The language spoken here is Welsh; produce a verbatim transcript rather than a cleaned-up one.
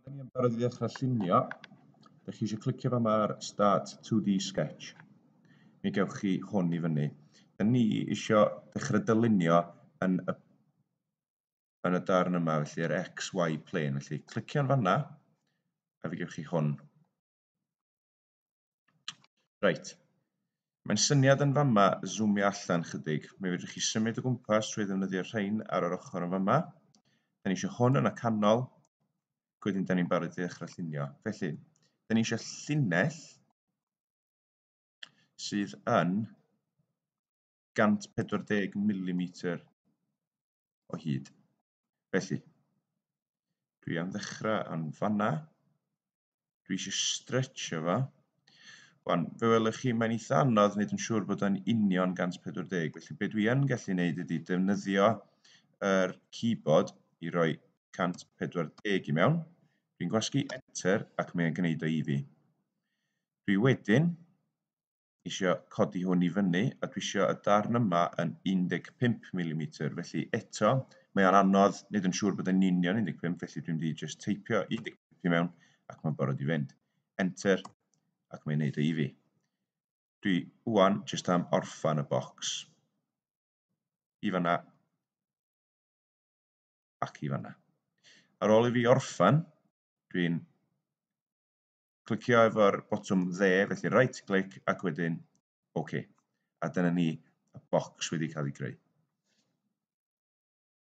Da ni yn barod i ddechrau llunio. Da chi eisiau clicio fama ar Start two D Sketch. Mi gewch chi hwn i fyny. Da ni eisiau dechrau dylunio yn y, yn y darn yma, felly yr X Y plane. Felly clicio'n fanna, a fe gewch chi hwn. Reit. Mae'n syniad yn fama zoomio allan chydig. Mi fedrwch chi symud o gwmpas trwy ddefnyddio'r rhain ar yr ochr yn fama. Da ni eisiau hwn yn y canol. Wedyn da ni'n barod i ddechrau llunio. Felly, da ni eisiau llinell sydd yn gant pedwar deg milimetr o hyd. Felly, dwi am ddechrau yn fanna. Dwi eisiau stretcho fo. Wan, fe welwch chi, mae'n eitha anodd wneud yn siŵr bod o'n union gant pedwar deg. Felly, be dwi yn gallu wneud ydy defnyddio yr keyboard i roi cant pedwar deg i mewn. Dwi'n gwasgu Enter ac mae'n gwneud o i fi. Dwi wedyn isio codi hwn i fyny a dwi isio y darn yma yn un deg pump milimetr. Felly eto, mae o'n anodd wneud yn siŵr bod yn union un deg pump, felly dwi'n mynd i just teipio un deg pump i mewn ac mae'n barod i fynd. Enter ac mae'n gwneud o i fi. Dwi wan jyst am orffan y bocs. I fanna ac i fanna. Ar ôl i fi orffan, dwi'n clicio efo'r botwm dde, felly right click ac wedyn OK. A dyna ni, y bocs wedi cael ei greu.